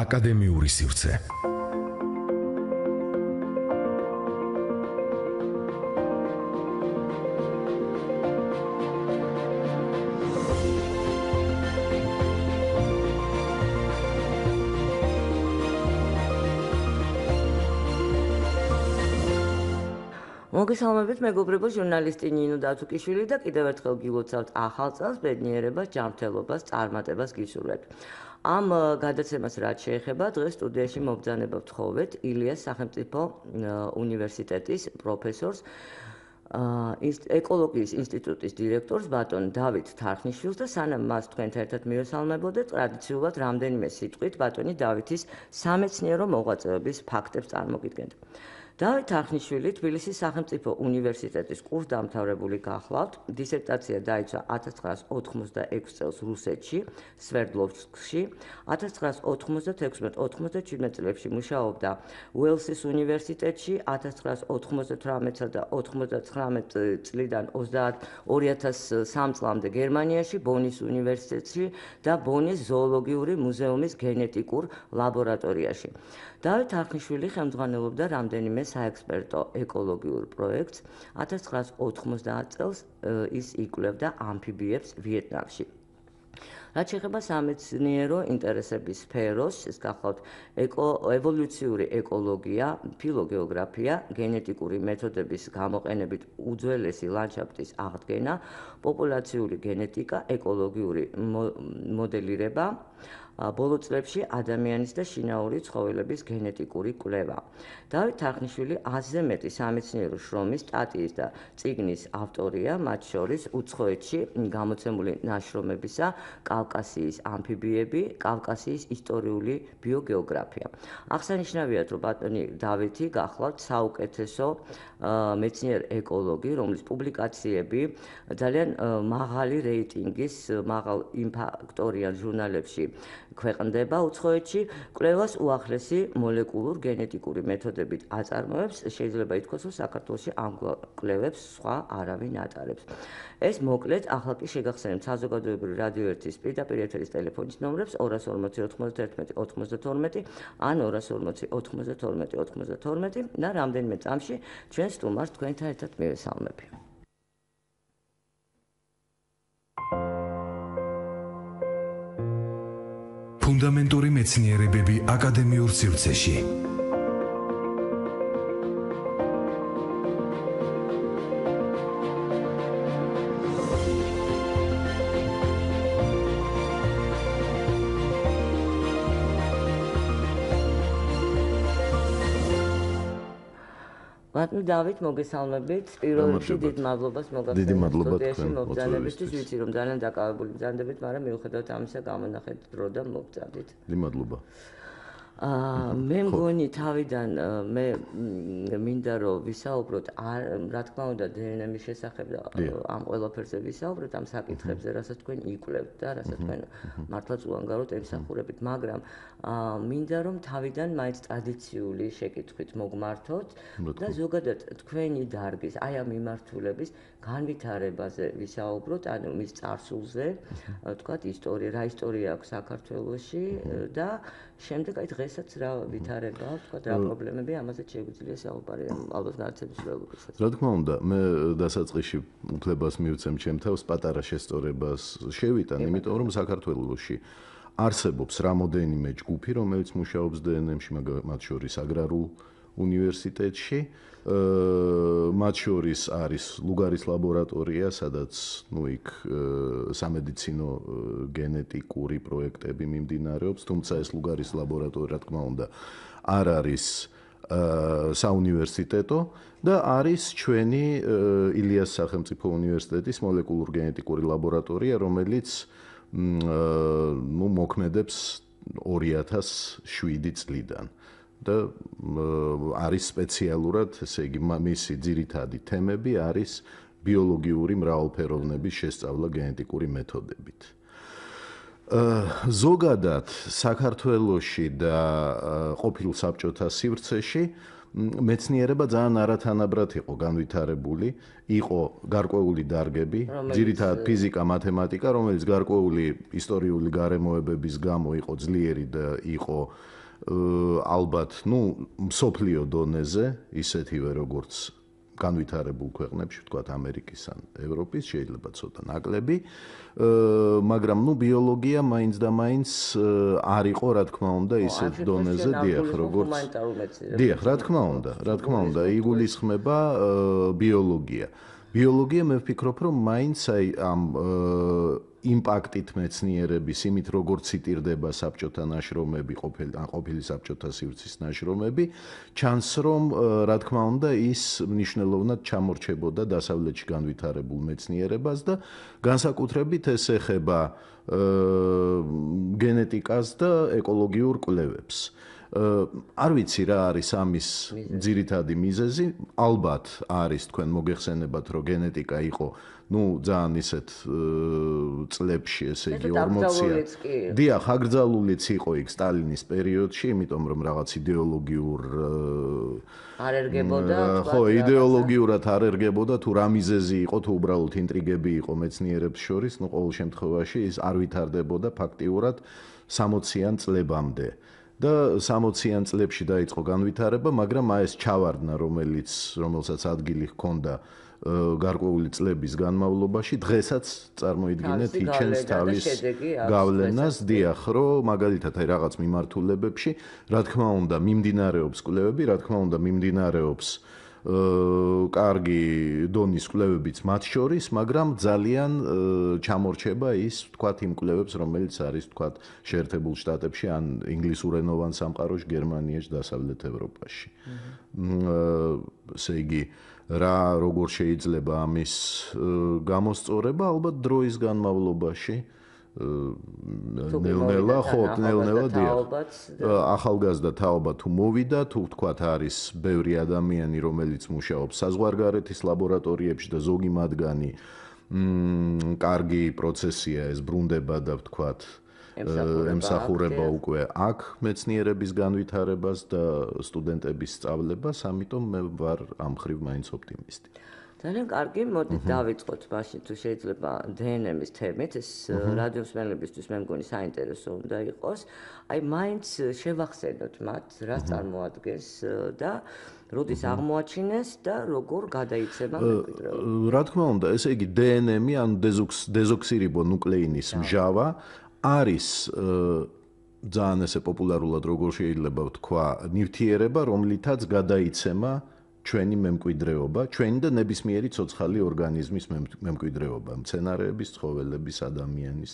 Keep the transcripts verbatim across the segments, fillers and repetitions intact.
აკადემიური სივრცე. მოგესალმებით, მეგობრებო, ჟურნალისტი ნინო დათუკიშვილი და კიდევ ერთხელ გილოცავთ ახალ წელს, ბედნიერებას, ჯანმრთელობას, წარმატებას გისურვებთ. ამ გადაცემას რაც შეეხება, დღეს სტუდიაში მობრძანება ვთხოვეთ ილიას სახელმწიფო უნივერსიტეტის პროფესორს, ეკოლოგიის ინსტიტუტის დირექტორს ბატონ დავით თარხნიშვილს და სანამ მას თქვენთან ერთად მივესალმებოდეთ, ტრადიციულად რამდენიმე სიტყვით ბატონი დავითის სამეცნიერო მოღვაწეობის ფაქტებს წარმოგიდგენთ. დავით თარხნიშვილი თბილისის სახელმწიფო უნივერსიტეტის კურსდამთავრებული გახლავთ. დისერტაცია დაიცვა ათას ცხრაას ოთხმოცდაექვსი წელს რუსეთში, სვერდლოვსკში. ათას ცხრაას ოთხმოცდათექვსმეტ ოთხმოცდაჩვიდმეტ წლებში მუშაობდა უელსის უნივერსიტეტში. ათას ცხრაას ოთხმოცდათვრამეტსა და ოთხმოცდათხრამეტ წლიდან ორი ათას სამ წლამდე გერმანიაში, ბონის უნივერსიტეტში და ბონის ზოოლოგიური მუზეუმის გენეტიკურ ლაბორატორიაში. დავით თარხნიშვილი ხელმძღვანელობდა რამდენიმე საექსპერტო ეკოლოგიურ პროექტს. ათას ცხრაას ოთხმოცდაათ წელს ის იკვლევდა ამფიბიებს ვიეტნამში. რაც შეეხება სამეცნიერო ინტერესების სფეროს, ეს გახლავთ ევოლუციური ეკოლოგია, ფილოგეოგრაფია, გენეტიკური მეთოდების გამოყენებით უძველესი ლანდშაფტის აღდგენა, პოპულაციური გენეტიკა, ეკოლოგიური მოდელირება, ბოლო წლებში ადამიანის და შინაური ცხოველების გენეტიკური კვლევა. დავით თარხნიშვილი ათზე მეტი სამეცნიერო შრომის, სტატიის და წიგნის ავტორია, მათ შორის უცხოეთში გამოცემული ნაშრომებისა კავკასიის ამფიბიები, კავკასიის ისტორიული ბიოგეოგრაფია. აღსანიშნავია, რომ ბატონი დავითი გახლავთ საუკეთესო მეცნიერ ეკოლოგი, რომლის პუბლიკაციები ძალიან მაღალი რეიტინგის, მაღალ იმპაქტორიან ჟურნალებში ქვეყნდება უცხოეთში, კვლევას უახლესი მოლეკულურ გენეტიკური მეთოდებით აწარმოებს, შეიძლება ითქვას, რომ საქართველოში ამ კვლევებს სხვა არავინ ატარებს. ეს მოკლედ ახლა კი შეგახსენებთ საზოგადოებრივი რადიო ერთის პირდაპირ ეთერის ტელეფონის ნომრებს ორას ორმოცი ოთხმოცდაერთმეტი ოცდათორმეტი ან ორას ორმოცი ოთხმოცდათორმეტი ოცდათორმეტი და რამდენიმე წამში ჩვენ სტუმარს თქვენთან ერთად მივესალმები. ფუნდამენტური მეცნიერებები აკადემიურ სივრცეში. ბატონო დავით, მოგესალმებით. პირველ რიგში დიდ მადლობას მოგახსენებთ სტუდიაში მობრძანებისთვის. ვიცი, რომ ძალიან დაკავებული ბრძანდებით, მაგრამ მიუხედავად ამისა გამონახეთ დრო და მოგწადით. დიდი მადლობა. აა მე მგონი თავიდან მე მინდა რომ ვისაუბროთ რა თქმა უნდა დნმ-ის შესახებ და ამ ყველაფერზე ვისაუბროთ, ამ საკითხებზე, რასაც თქვენ იკვლევთ და რასაც თქვენ მართლაც უანგაროდ ემსახურებით, მაგრამ აა მინდა რომ თავიდან მაინც ტრადიციული შეკითხვით მოგმართოთ და ზოგადად თქვენი დარგის, აი ამ მიმართულების განვითარებაზე ვისაუბროთ, ანუ მის წარსულზე, თქვათ ისტორია, რა ისტორია აქვს საქართველოში და შემდეგ აი დღესაც რა ვითარება აქვს, თქვათ რა პრობლემები, ამაზე შეგვიძლია საუბარი, ალბათ განაცემის რეალობასაც. რა თქმა უნდა, მე დასაწყისში უფლებას მივცემ ჩემ თავს პატარა შესწორებას შევიტან, იმიტომ რომ საქართველოში არსებობს რამოდენიმე ჯგუფი, რომელიც მუშაობს დნმ-ში, მათ შორის აგრარულ უნივერსიტეტში, მათ შორის არის ლუგარის ლაბორატორია, სადაც ნუ იქ სამედიცინო გენეტიკური პროექტები მიმდინარეობს, თუმცა ეს ლუგარის ლაბორატორია, რა თქმა უნდა, არ არის საუნივერსიტეტო და არის ჩვენი ილიას სახელმწიფო უნივერსიტეტის მოლეკულურ გენეტიკური ლაბორატორია, რომელიც ნუ მოქმედებს ორი ათას შვიდი წლიდან. და არის სპეციალურად, ესე იგი, მისი ძირითადი თემები არის ბიოლოგიური მრავალფეროვნების შესწავლა გენეტიკური მეთოდებით. ზოგადად საქართველოში და ყოფილ საბჭოთა სივრცეში მეცნიერება ძალიან არათანაბრად იყო განვითარებული, იყო გარკვეული დარგები, ძირითადად ფიზიკა, მათემატიკა, რომელიც გარკვეული ისტორიული გარემოებების გამო იყო ძლიერი და იყო ალბათ, ну, მსოფლიო დონეზე, ისეთივე როგორც განვითარებულ ქვეყნებში, ვთქვათ, ამერიკის ან ევროპის, შეიძლება ცოტა ნაკლები, მაგრამ ну ბიოლოგია მაინც და მაინც არ იყო, რა თქმა უნდა, ისეთ დონეზე, დიახ, როგორც დიახ, რა თქმა უნდა, რა თქმა უნდა, იგულისხმება ბიოლოგია. ბიოლოგია მე ვფიქრობ, რომ მაინც აი ამ იმპაქტით მეცნიერების, იმით როგორც ციტირდება საბჭოთა ნაშრომები, ყოფილი ან ყოფილი საბჭოთა სივრცის ნაშრომები, ჩანს რომ რა თქმა უნდა ის მნიშვნელოვნად ჩამორჩებოდა დასავლეთში განვითარებულ მეცნიერებას და განსაკუთრებით ეს ეხება გენეტიკას და ეკოლოგიურ კვლევებს. არ ვიცი რა არის ამის ძირითადი მიზეზი, ალბათ არის თქვენ მოგეხსენებათ, რომ გენეტიკა იყო ну, ძალიან ისეთ წლებში, ესე იგი ორმოცია. დიახ, აკრძალულიც იყო იქ სტალინის პერიოდში, იმიტომ რომ რაღაც იდეოლოგიურ არ ერგებოდა, ხო, იდეოლოგიურად არ ერგებოდა, თუ რა მიზეზი იყო, თუ უბრალოდ ინტრიგები იყო მეცნიერებს შორის, ну, ყოველ შემთხვევაში ის არ ვითარდებოდა ფაქტიურად სამოციან წლებამდე. და სამოციან წლებში დაიწყო განვითარება, მაგრამ აი ეს ჩავარდნა, რომელიც რომელსაც ადგილი ჰქონდა გარკვეული წლების განმავლობაში, დღესაც წარმოიდგინეთ იჩენს თავის გავლენას, დიახ, რომ მაგალითად აი რაღაც მიმართულებებში, რა თქმა უნდა, მიმდინარეობს კვლევები, რა თქმა უნდა, მიმდინარეობს კარგი დონის კვლევებიც მათ შორის, მაგრამ ძალიან ჩამორჩება ის, ვთქვათ, იმ კვლევებს, რომელიც არის, ვთქვათ, შეერთებულ შტატებში ან ინგლისურენოვან სამყაროში, გერმანიაში, დასავლეთ ევროპაში. ესე იგი, რა როგორ შეიძლება ამის გამოსწორება, ალბათ დროის განმავლობაში ნელ-ნელა, ხო, ნელ-ნელა დიახ. ახალგაზრდა თაობა თუ მოვიდა, თუ ვთქვათ, არის ბევრი ადამიანი, რომელიც მუშაობს საზღვარგარეთის ლაბორატორიებში და ზოგი მათგანი კარგი პროცესია ეს ბრუნდება და ვთქვათ, ემსახურება უკვე აქ მეცნიერების განვითარებას და სტუდენტების სწავლებას, ამიტომ მე ვარ ამ მხრივ მაინც ოპტიმისტი. ძალიან კარგი, მოდით დავიწყოთ მაშინ თუ შეიძლება დე ენ ემის თემით, ეს რადიომსმენელებისთვის მე მგონი საინტერესო უნდა იყოს. აი მაინც შევახსენოთ მათ, რას წარმოადგენს და როდის აღმოაჩინეს და როგორ გადაიცემა მემკვიდრეობა. რა თქმა უნდა, ესე იგი დე ენ ემი, ანუ დეზოქსირიბონუკლეინის მჟავა არის ძალიან ესე პოპულარულად როგორ შეიძლება ვთქვა, ნივთიერება, რომლითაც გადაიცემა ჩვენი მემკვიდრეობა, ჩვენი და ნებისმიერი ცოცხალი ორგანიზმის მემკვიდრეობა, მცენარეების, ცხოველების, ადამიანის,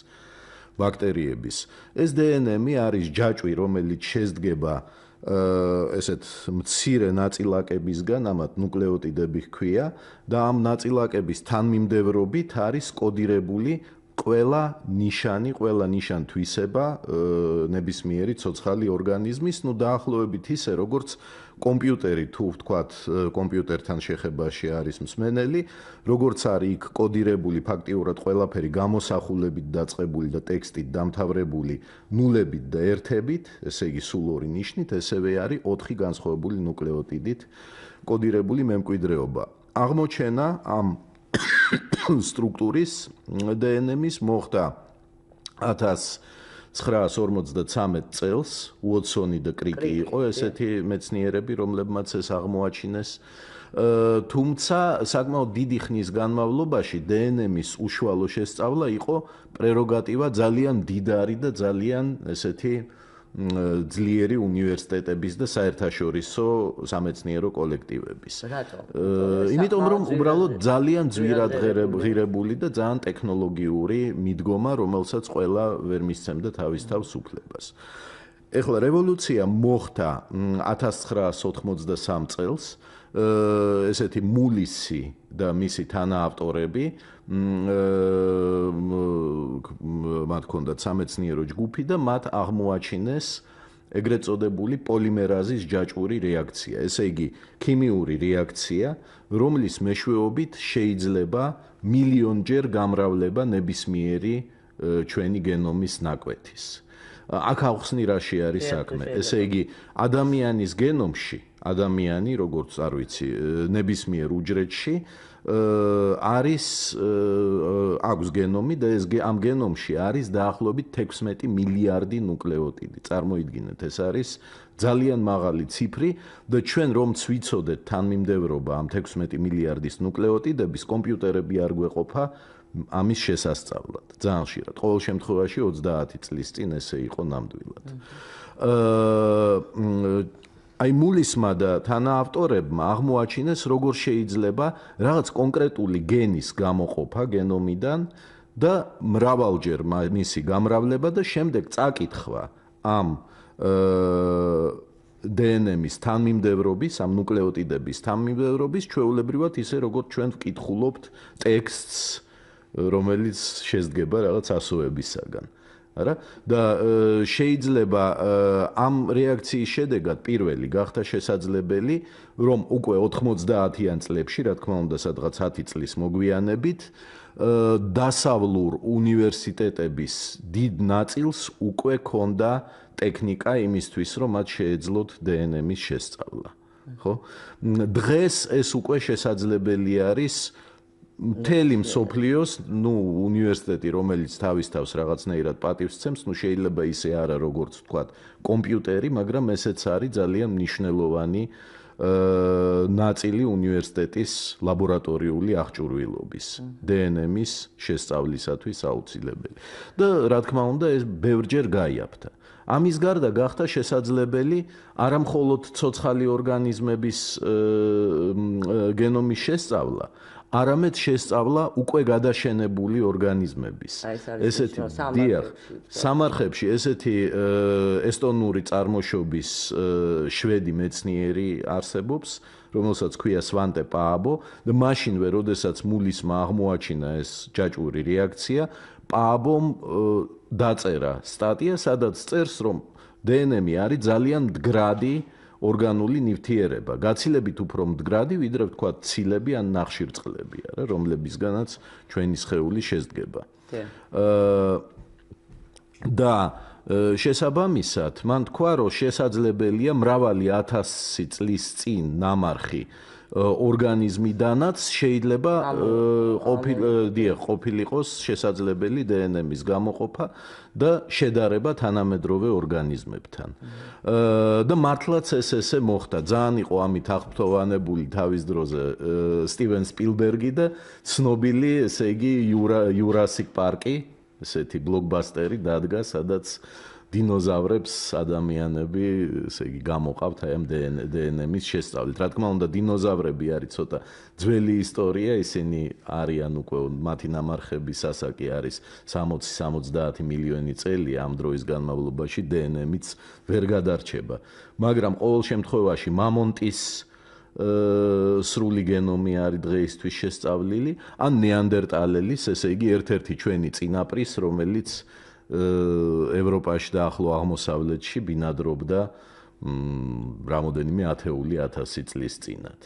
ბაქტერიების. ეს დე ენ ემი არის ჯაჭვი, რომელიც შედგება ესეთ მცირე ნაწილაკებისგან, ამათ ნუკლეოტიდები ჰქვია და ამ ნაწილაკების თანმიმდევრობით არის კოდირებული ყველა ნიშანი, ყველა ნიშან-თვისება ნებისმიერი ცოცხალი ორგანიზმის, ну დაახლოებით ისე, როგორც კომპიუტერი თუ ვთქვათ, კომპიუტერთან შეხებაში არის მსმენელი, როგორც არის იქ კოდირებული ფაქტიურად ყველაფერი გამოსახულებით დაწყებული და ტექსტით დამთავრებული ნულებით და ერთებით, ესე იგი სულ ორი ნიშნით, ესევე არის ოთხი განსხვავებული ნუკლეოტიდით კოდირებული მემკვიდრეობა. აღმოჩენა ამ სტრუქტურის დე ენ ემის მოხდა ათას ცხრაას ორმოცდათრამეტ წელს, უოტსონი და კრიკი იყო ესეთი მეცნიერები, რომლებმაც ეს აღმოაჩინეს. თუმცა საკმაოდ დიდი ხნის განმავლობაში დე ენ ემის უშუალო შესწავლა იყო პრეროგატივა ძალიან მდიდარი და ძალიან ესეთი ძლიერი უნივერსიტეტების და საერთაშორისო სამეცნიერო კოლექტივების. რატო? იმიტომ რომ უბრალოდ ძალიან ძვირად ღირებული და ძალიან ტექნოლოგიური მიდგომა, რომელსაც ყველა ვერ მისცემდა თავის თავს უფლებას. ეხლა რევოლუცია მოხდა ათას ცხრაას ოთხმოცდასამ წელს, ესეთი მულისი და მისი თანაავტორები მათ ჰქონდათ სამეცნიერო ჯგუფი და მათ აღმოაჩინეს ეგრეთ წოდებული პოლიმერაზის ჯაჭვური რეაქცია. ესე იგი, ქიმიური რეაქცია, რომლის მეშვეობით შეიძლება მილიონჯერ გამრავლება ნებისმიერი ჩვენი გენომის ნაკვეთის. აქ ახსნი რაში არის საქმე. ესე იგი, ადამიანის გენომში, ადამიანი, როგორც არ ვიცი, ნებისმიერ უჯრედში არის აქვს გენომი და ეს ამ გენომში არის დაახლოებით თექვსმეტი მილიარდი ნუკლეოტიდი. წარმოიდგინეთ, ეს არის ძალიან მაღალი ციფრი და ჩვენ რომც ვიცოდეთ თანმიმდევრობა ამ თექვსმეტი მილიარდის ნუკლეოტიდების, კომპიუტერები არ გვეყოფა ამის შესასწავლად. ძალიან ხშირად. ყოველ შემთხვევაში ოცდაათი წლის წინ ესე იყო ნამდვილად. აა აი მულისმა და თანაავტორებმა აღმოაჩინეს, როგორ შეიძლება რაღაც კონკრეტული გენის გამოყოფა გენომიდან და მრავალჯერ მისი გამრავლება და შემდეგ წაკითხვა ამ დნმ-ის თანმიმდევრობის, ამ ნუკლეოტიდების თანმიმდევრობის, ჩვეულებრივად ისე როგორც ჩვენ ვკითხულობთ ტექსტს, რომელიც შედგება რაღაც ასოებისაგან. არა და შეიძლება ამ რეაქციის შედეგად პირველი გახდა შესაძლებელი, რომ უკვე ოთხმოცდაათიან წლებში, რა თქმა უნდა, სადღაც ათი წლის მოგვიანებით, დასავლურ უნივერსიტეტების დიდ ნაწილს უკვე ქონდა ტექნიკა იმისთვის, რომ მათ შეეძლოთ დნმ-ის შესწავლა. ხო? დღეს ეს უკვე შესაძლებელი არის მთელი მსოფლიოს, ნუ უნივერსიტეტი, რომელიც თავის თავს რაღაცნაირად პატივს სცემს, ნუ შეიძლება ისე არა, როგორც ვთქვათ, კომპიუტერი, მაგრამ ესეც არის ძალიან მნიშვნელოვანი ნაწილი უნივერსიტეტის ლაბორატორიული აღჭურვილობის, დნმ-ის შესწავლისათვის აუცილებელი. და რა თქმა უნდა, ეს ბევრჯერ გაიაფთა. ამის გარდა გახდა შესაძლებელი არა მხოლოდ ცოცხალი ორგანიზმების გენომის შესწავლა, არამედ შესწავლა უკვე გადაშენებული ორგანიზმების. ესეთი დიახ, სამარხებში ესეთი ესტონური წარმოშობის შვედი მეცნიერი არსებობს, რომელსაც ქვია სვანტე პააბო და მაშინვე, როდესაც მულისმა აღმოაჩინა ეს ჯაჭვური რეაქცია, პააბომ დაწერა სტატია, სადაც წერს, რომ დნმ არის ძალიან მდგრადი ორგანული ნივთიერება, გაცილებით უფრო მდგრადი, ვიდრე ვთქვათ ცილები ან ნახშირწყლები, არა, რომლებისგანაც ჩვენი სხეული შედგება. და შესაბამისად, მან თქვა, რომ შესაძლებელია მრავალი ათასი წლის წინ ნამარხი ორგანიზმიდანაც შეიძლება ყოფილიყოს შესაძლებელი დნმ-ის გამოყოფა და შედარება თანამედროვე ორგანიზმებთან. და მართლაც ეს ესე მოხდა. ძალიან იყო ამით აღფრთოვანებული თავის დროზე სტივენ სპილბერგი და ცნობილი, ესე იგი, იურასიკ პარკი, ესეთი ბლოკბასტერი დადგა, სადაც დინოზავრებს ადამიანები, ესე იგი, გამოყავთ აი ამ დნმ-ის შესწავლით. რა თქმა უნდა, დინოზავრები არის ცოტა ძველი ისტორია, ისინი არიან უკვე მათი ნამარხების ასაკი არის სამოცი სამოცდაათი მილიონი წელი, ამ დროის განმავლობაში დნმ-იც ვერ გადარჩება. მაგრამ ყოველ შემთხვევაში მამონტის სრული გენომი არის დღეისთვის შესწავლილი, ან ნეანდერტალელის, ესე იგი, ერთ-ერთი ჩვენი წინაპრის, რომელიც ევროპაში და ახლო აღმოსავლეთში ბინადრობდა რამოდენიმე ათეული ათასი წლის წინათ.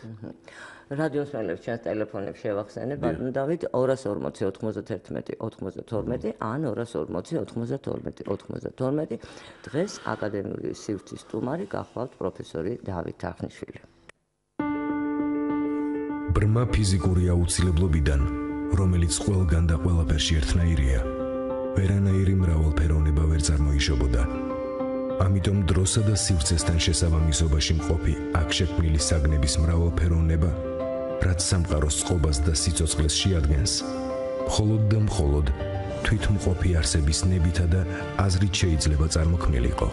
რადიოს მელებს ჩვენს ტელეფონებს შევახსენებ, ბატონო დავით ორას ორმოცი ოთხმოცდაერთმეტი ოცდათორმეტი ან ორას ორმოცი ოთხმოცდათორმეტი ოცდათორმეტი. დღეს აკადემიური სივრცის სტუმარი გახლავთ პროფესორი დავით თარხნიშვილი. ბრმა ფიზიკური აუცილებლობიდან, რომელიც ყველგან და ყველაფერში ერთნაირია, ვერანაირი მრავალფეროვნება ვერ წარმოიშობოდა. ამიტომ დროსა და სივრცესთან შესაბამისობაში მყოფი აქ შექმნილი საგნების მრავალფეროვნება, რაც სამყაროს წყობას და სიცოცხლეს შეადგენს, მხოლოდ და მხოლოდ თვითმყოფი არსების ნებითა და აზრით შეიძლება წარმოქმნილიყო.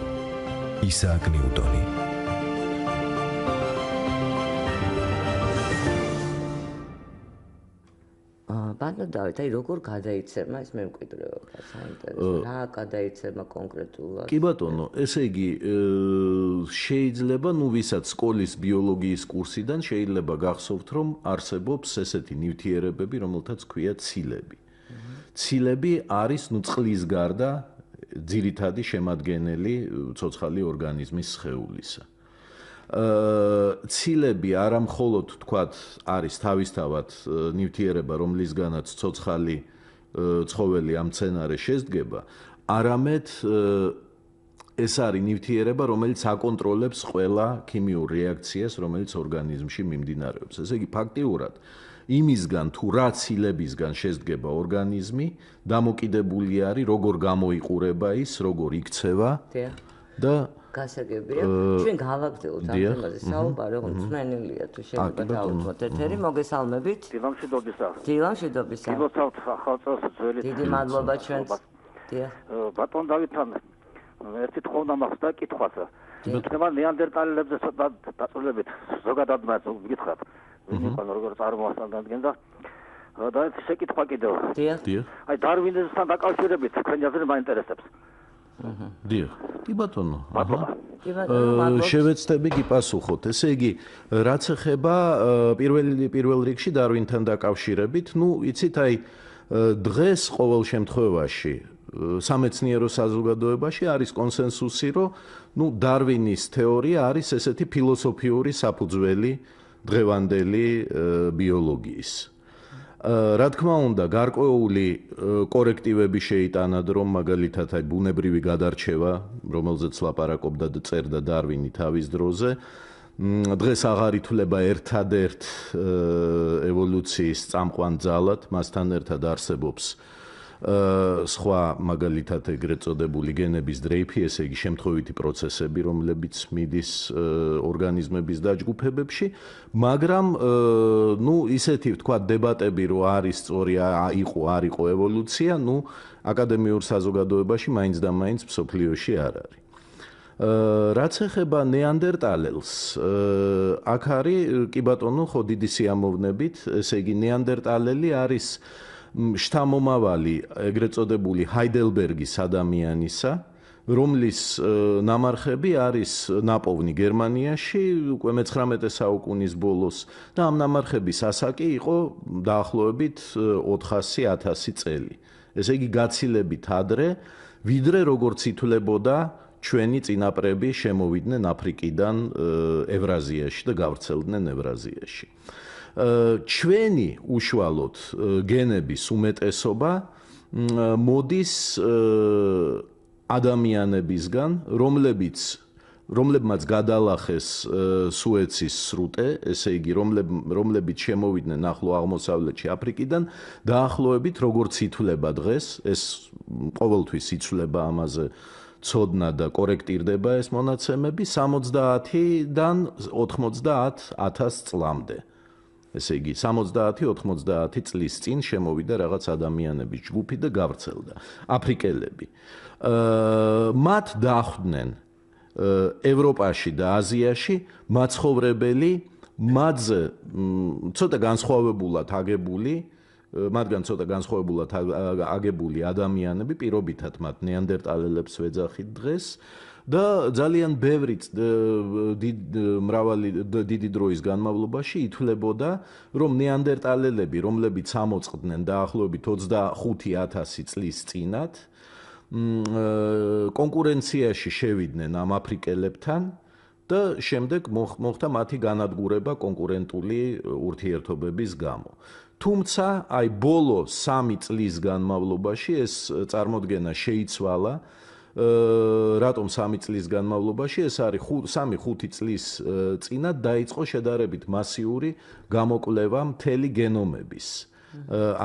ისააკ ნიუტონი. ბატონო დავით, აი როგორ გადაიცემა ეს მემკვიდრეობა, საინტერესო, რა გადაიცემა კონკრეტულად? კი ბატონო, ესე იგი, შეიძლება, ნუ ვისაც სკოლის ბიოლოგიის კურსიდან შეიძლება გახსოვთ, რომ არსებობს ესეთი ნივთიერებები, რომელთაც ქვია ცილები. ცილები არის, ნუ წყლის გარდა, ძირითადი შემადგენელი ცოცხალი ორგანიზმის სხეულისა. ცილები არა მხოლოდ თქვათ არის თავისთავად ნივთიერება, რომლისგანაც ცოცხალი ცხოველი ამ მცენარეს შესდგება, არამედ ეს არის ნივთიერება, რომელიც აკონტროლებს ყველა ქიმიურ რეაქციას, რომელიც ორგანიზმში მიმდინარეობს. ესე იგი, ფაქტიურად იმისგან თუ რა ცილებისგან შესდგება ორგანიზმი, დამოკიდებული არის, როგორ გამოიყურება ის, როგორ იქცევა და გასაგებია. ჩვენ გავაგრძელოთ ამ თემაზე საუბარი, რომ მსმენელია თუ შეიძლება დავუწყოთ ეთერი, მოგესალმებით. დილა მშვიდობისა. დილა მშვიდობისა. გილოცავთ ახალწელს ძველი. დიდი მადლობა ჩვენს. დიახ. ბატონ დავითთან ერთი თხოვნა მაქვს და კითხვას. იქნება ნეანდერტალელებზე ცოტა დაწვრილებით ზოგადად მას ვიკითხავთ. ვინიყო როგორ წარმოასწავლდნენ და და შეკითხვა კიდევ. დიახ. აი დარვინიზმთან დაკავშირებით თქვენი აზრი მაინტერესებს. დიახ. კი ბატონო. აჰა. შევეცდები გიპასუხოთ. ესე იგი, რაც ეხება პირველი პირველ რიგში დარვინთან დაკავშირებით, ну, იცით, აი დღეს ყოველ შემთხვევაში სამეცნიერო საზოგადოებაში არის კონსენსუსი, რომ ну, დარვინის თეორია არის ესეთი ფილოსოფიური საფუძველი დღევანდელი ბიოლოგიის. რა თქმა უნდა, გარკვეული კორექტივები შეიტანად, რომ მაგალითად აი ბუნებრივი გადარჩევა, რომელზეც ლაპარაკობდა და წერდა დარვინი თავის დროზე, დღეს აღარ ითვლება ერთადერთ ევოლუციის წამყვან ძალად, მასთან ერთად არსებობს სხვა მაგალითად ეგრეთ წოდებული გენების დრეიფი, ესე იგი შემთხვევითი პროცესები, რომლებიც მიდის ორგანიზმების დაჯგუფებებში, მაგრამ ну, ისეთი ვთქვათ დებატები, რომ არის სწორი იყო, არ იყო ევოლუცია, ну, აკადემიურ საზოგადოებაში მაინც და მაინც მსოფლიოში არ არის. რაც ეხება ნეანდერტალელს, აქ არის კი ბატონო, ხო დიდი სიამოვნებით, ესე იგი ნეანდერტალელი არის შთამომავალი ეგრეთ წოდებული ჰაიდელბერგის ადამიანისა, რომლის ნამარხები არის ნაპოვნი გერმანიაში უკვე მეცხრამეტე საუკუნის ბოლოს და ამ ნამარხების ასაკი იყო დაახლოებით ოთხასი ათასი წელი. ესე იგი გაცილებით ადრე, ვიდრე როგორც ითვლებოდა ჩვენი წინაპრები შემოვიდნენ აფრიკიდან ევრაზიაში და გავრცელდნენ ევრაზიაში. ჩვენი უშუალოდ გენების უმეტესობა მოდის ადამიანებისგან, რომლებიც რომლებმაც გადალახეს სუეცის სრუტე, ესე იგი რომლებიც შემოვიდნენ ახლო აღმოსავლეთში აფრიკიდან, დაახლოებით როგორც ითვლება დღეს, ეს ყოველთვის იცვლება ამაზე ცოდნა და კორექტირდება ეს მონაცემები სამოცდაათიდან ოთხმოცდაათ ათას წლამდე. ესე იგი სამოცდაათი ოთხმოცდაათი წლის წინ შემოვიდა რაღაც ადამიანების ჯგუფი და გავრცელდა აფრიკელები. მათ დახვდნენ ევროპაში და აზიაში მაცხოვრებელი მათზე ცოტა განსხვავებულად აგებული მათგან ცოტა განსხვავებულად აგებული ადამიანები პირობითად მათ ნეანდერტალელებს ვეძახით დღეს და ძალიან ბევრი მრავალი დიდი დროის განმავლობაში ითვლებოდა, რომ ნეანდერტალელები, რომლებიც ამოწყდნენ დაახლოებით ოცდახუთი ათასი წლის წინათ, კონკურენციაში შევიდნენ ამ აფრიკელებთან და შემდეგ მოხდა მათი განადგურება კონკურენტული ურთიერთობების გამო. თუმცა, აი ბოლო სამი წლის განმავლობაში ეს წარმოდგენა შეიცვალა. რატომ სამი წლის განმავლობაში ეს არის სამი ხუთი წლის წინათ დაიწყო შედარებით მასიური გამოკვლევა მთელი გენომების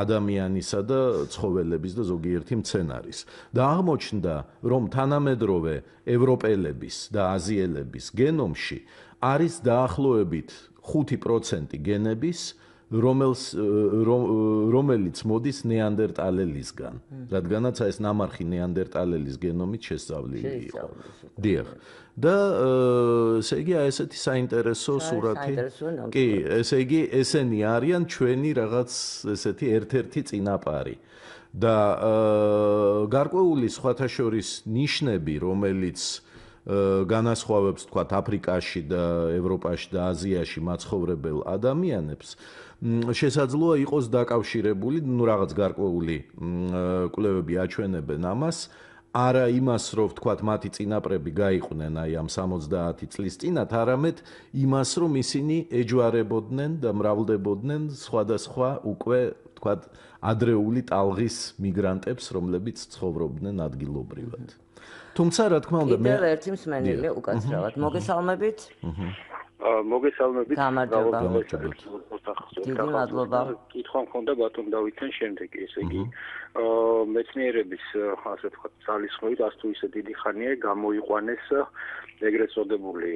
ადამიანისა და ცხოველების და ზოგიერთი მცენარის და აღმოჩნდა რომ თანამედროვე ევროპელების და აზიელების გენომში არის დაახლოებით ხუთი პროცენტი გენების რომელს რომელიც მოდის ნეანდერტალელისგან, რადგანაც ეს ნამარხი ნეანდერტალელის გენომით შესწავლილი იყო. დიახ. და ესე იგი ესეთი საინტერესო სურათი. კი, ესე იგი ესენი არიან ჩვენი რაღაც ესეთი ერთ-ერთი წინაპარი. და გარკვეული სხვათა შორის ნიშნები, რომელიც განასხვავებს თქვათ აფრიკაში და ევროპაში და აზიაში მაცხოვრებელ ადამიანებს შესაძლოა იყოს დაკავშირებული, ну რაღაც გარკვეული კვლევები აჩვენებენ ამას, არა იმას, რომ ვთქვათ მათი წინაპრები გაიყვნენ აი ამ სამოცდაათი წლის წინათ, არამედ იმას, რომ ისინი ეჯვარებოდნენ და მრავლდებოდნენ სხვადასხვა უკვე თქვა, ადრეული ტალღის მიგრანტებს, რომლებიც ცხოვრობდნენ ადგილობრივად. თუმცა, რა თქმა უნდა, მე კიდევ ერთი მსმენელი უკაცრავად. მოგესალმებით? მოგესალმებით. გამარჯობა. დიდი მადლობა. კითხვა მქონდა ბატონ დავითთან შემდეგი, ესე იგი, მეცნიერების, ასე ვთქვათ, ძალისხმევით, ასე თუ ისე დიდი ხანია გამოიყვანეს ეგრეთ წოდებული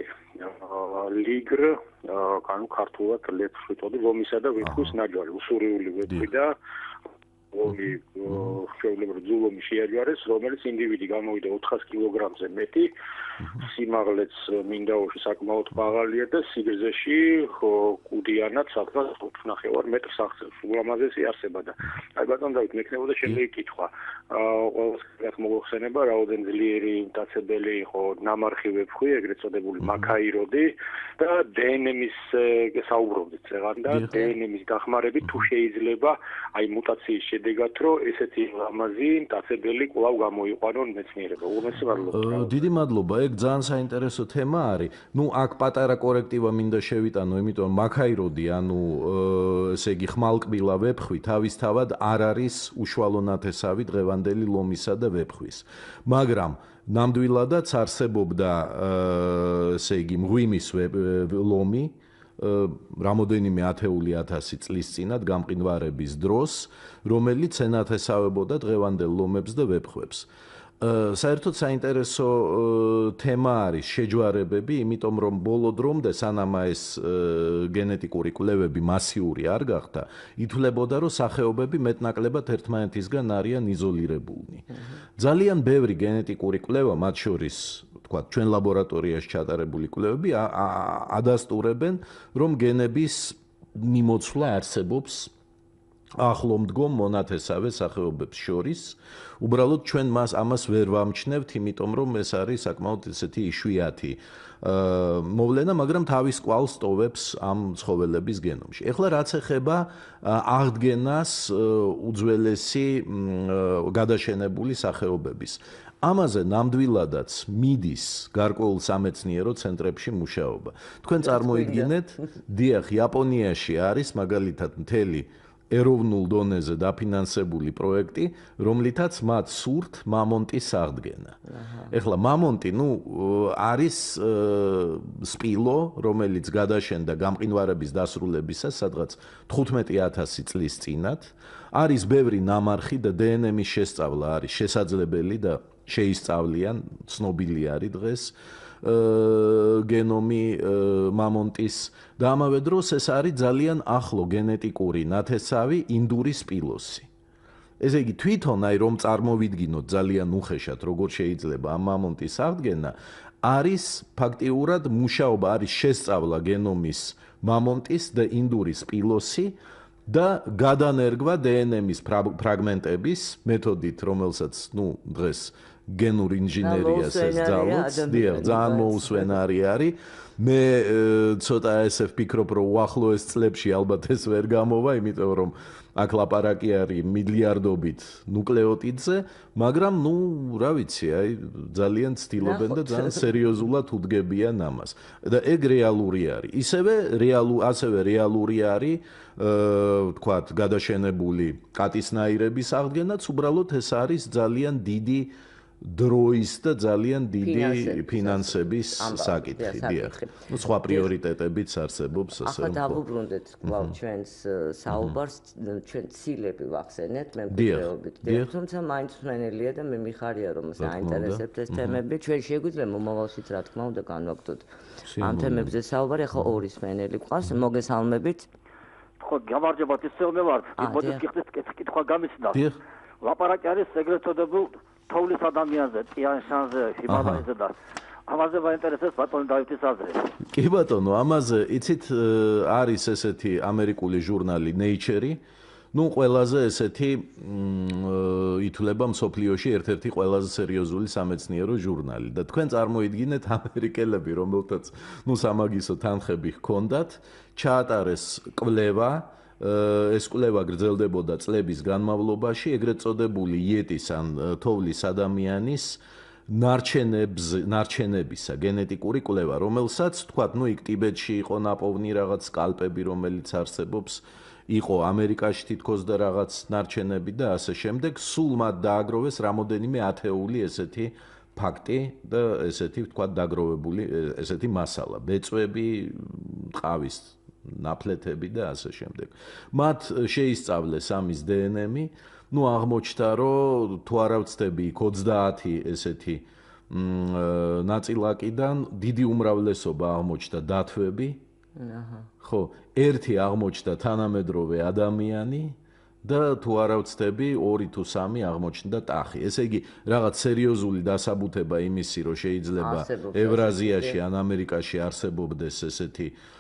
ლიგრ, ანუ ქართულად ლეფხვი ტოდი, ლომისა და ვეფხვის ნაჯარი, უსურვილი ვეფხვი და ლომი შეუძლებელი ძულომი შეაჯარეს, რომელიც ინდივიდი გამოვიდა ოთხას კილოგრამზე მეტი, სიმაღლეც მინდაოში საკმაოდ მაღალია და სიგრძეში კუდიანად საკმაოდ ოთხ ნახევარ მეტრს აღწევს. ულამაზესი არსება და აი ბატონ დავით, მექნებოდა შემდეგი კითხვა. ყველას მოგხსენება, რაოდენ ძლიერი მტაცებელი იყო ნამარხი ვეფხვი, ეგრეთ წოდებული მაქაიროდი და დე ენ ემის საუბრობდით წეღან და დე ენ ემის დახმარებით თუ შეიძლება აი მუტაციის შედეგად რომ ესეთი ლამაზი მტაცებელი კვლავ გამოიყვანონ მეცნიერება. უღრმესი მადლობა. დიდი მადლობა. ეგ ძალიან საინტერესო თემა არის. ნუ აქ პატარა კორექტივა მინდა შევიტანო, იმიტომ მაქაიროდი, ანუ ესე იგი ხმალკბილა ვეფხვი თავისთავად არ არის უშუალო ნათესავი დღევანდელი ლომისა და ვეფხვის. მაგრამ ნამდვილადაც არსებობდა ესე იგი მღვიმის ლომი რამოდენიმე ათეული ათასი წლის წინათ გამყინვარების დროს, რომელიც ენათესავებოდა დღევანდელ ლომებს და ვეფხვებს. საერთოდ საინტერესო თემა არის შეჯვარებები, იმიტომ რომ ბოლო დრომდე სანამ ეს გენეტიკური კვლევები მასიური არ გახდა, ითვლებოდა რომ სახეობები მეტნაკლებად ერთმანეთისგან არიან იზოლირებულნი. ძალიან ბევრი გენეტიკური კვლევა, მათ შორის თქვა ჩვენ ლაბორატორიაში ჩატარებული კვლევები ადასტურებენ, რომ გენების მიმოცვლა არსებობს ახლომდგომ მონათესავე სახეობებს შორის. უბრალოდ ჩვენ მას ამას ვერ ვამჩნევთ, იმიტომ რომ ეს არის საკმაოდ ესეთი იშვიათი მოვლენა, მაგრამ თავის კვალს ტოვებს ამ ცხოველების გენომში. ეხლა რაც ეხება აღდგენას უძველესი გადაშენებული სახეობების. ამაზე ნამდვილადაც მიდის გარკვეულ სამეცნიერო ცენტრებში მუშაობა. თქვენ წარმოიდგინეთ, დიახ, იაპონიაში არის მაგალითად მთელი ეროვნულ დონეზე დაფინანსებული პროექტი, რომლითაც მათ სურთ მამონტის აღდგენა. ეხლა მამონტი, ნუ არის სპილო, რომელიც გადაშენდა გამყინვარების დასრულებისას, სადღაც თხუთმეტი ათასი წლის წინათ. არის ბევრი ნამარხი და დე ენ ემის შესწავლა არის შესაძლებელი და შეისწავლიან, ცნობილი არის დღეს გენომი მამონტის და ამავე დროს ეს არის ძალიან ახლო გენეტიკური ნათესავი ინდური სპილოსი. ესე იგი თვითონ აი რომ წარმოვიდგინოთ ძალიან უხეშად როგორ შეიძლება ამ მამონტის აღდგენა, არის ფაქტიურად მუშაობა, არის შესწავლა გენომის მამონტის და ინდური სპილოსი და გადანერგვა დე ენ ემის ფრაგმენტების მეთოდით, რომელსაც ნუ დღეს გენურ ინჟინერიას ესწავლოთ, დიახ, ძალიან მოუსვენარი არის. მე ცოტა ესე ვფიქრობ, რომ უახლოეს წლებში ალბათ ეს ვერ გამოვა, იმიტომ რომ აქ ლაპარაკი არის მილიარდობით ნუკლეოტიდზე, მაგრამ ნუ რა ვიცი, აი ძალიან ცდილობენ და ძალიან სერიოზულად უდგებიან ამას. და ეგ რეალური არის. ისევე რეალუ ასევე რეალური არის ვთქვათ, გადაშენებული კატისნაირების აღდგენაც, უბრალოდ ეს არის ძალიან დიდი დროის და ძალიან დიდი ფინანსების საკითხი, დიახ. ნუ სხვა პრიორიტეტებიც არსებობს, ასე რომ. ახლა დავუბრუნდეთ კვლავ ჩვენს საუბარს, ჩვენ ცილები ვახსენეთ მემკვიდრეობით. თუმცა მაინც მსმენელია და მე მიხარია რომ საინტერესებთ ეს თემები. ჩვენ შეგვიძლია მომავალშიც რა თქმა უნდა განვაგრძოთ ამ თემებზე საუბარი. ახლა ორი მსმენელი გვყავს, მოგესალმებით. ხო, გამარჯობათ, ისევნე ვართ. მოდი გიხდეთ კითხვა გამიცნოთ. ლაპარაკი არის ეგრეთ წოდებულ თოვლის ადამიანზე, ტიან-შანზე, ჰიმალაიზე და ამაზე მაინტერესებს ბატონი დავითის აზრი. კი ბატონო, ამაზე იცით არის ესეთი ამერიკული ჟურნალი Nature, ნუ ყველაზე ესეთი ითვლება მსოფლიოში ერთ-ერთი ყველაზე სერიოზული სამეცნიერო ჟურნალი და თქვენ წარმოიდგინეთ ამერიკელები, რომელთაც ნუ სამაგისო თანხები ჰქონდათ, ჩაატარეს კვლევა, ეს კვლევა გრძელდებოდა წლების განმავლობაში, ეგრეთ წოდებული იეტის ან თოვლის ადამიანის ნარჩენებზე, ნარჩენებისა გენეტიკური კვლევა, რომელსაც თქვათ, ნუ იქ ტიბეტში იყო ნაპოვნი რაღაც სკალპები, რომელიც არსებობს იყო ამერიკაში თითქოს და რაღაც ნარჩენები და ასე შემდეგ, სულ მათ დააგროვეს რამოდენიმე ათეული ესეთი ფაქტი და ესეთი ვთქვათ დაგროვებული ესეთი მასალა, ბეწვები, ყავის ნაფლეთები და ასე შემდეგ. მათ შეისწავლეს ამის დე ენ ემი, ну აღმოჩნდა რომ თუ არა ვცდები იქ ოცდაათი ესეთი ნაწილაკიდან დიდი უმრავლესობა აღმოჩნდა დათვები. აჰა. ხო, ერთი აღმოჩნდა თანამედროვე ადამიანი და თუ არა ვცდები ორი თუ სამი აღმოჩნდა ტახი. ესე იგი, რაღაც სერიოზული დასაბუთება იმისი, რომ შეიძლება ევრაზიაში ან ამერიკაში არსებობდეს ესეთი